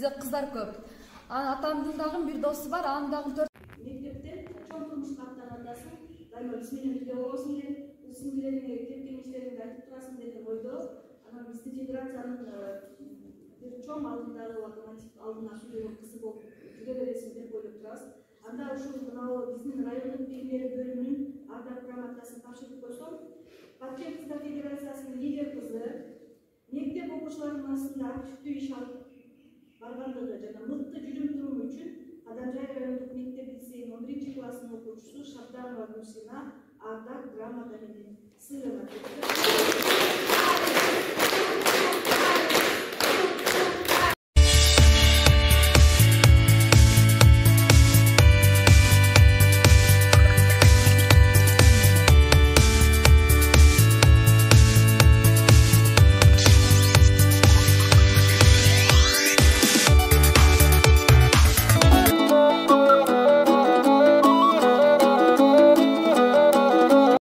бизде кыздар көп. Атамдын дагы бир досу бар, анын дагы 4 мектептен чоң турмушка аттанатасың, дайыма биз менен бирге болосуң деп, сиңдилериңе кеп-кеңештериңди айтып турасың деген ойдо. Анан биздин федерациянын бир чоң алдындагы локомотив алдына сүйлөгөн кызы болуп жүрө бересиң деп ойлоп турабыз. Анда ушул мынау биздин райондук бийлер бөлүмүнүн ардак грамотасын тапшырып койсом, Баткен кыздар федерациясынын лидер кызы мектеп окуучуларынын арасында активдүү иш алып баргандыгы жана мыкты жүрүм-туруму үчүн Кадамжай райондук мектеп лицейинин 11-класынын окуучусу Шабданова Гүлсина ардак грамота менен сый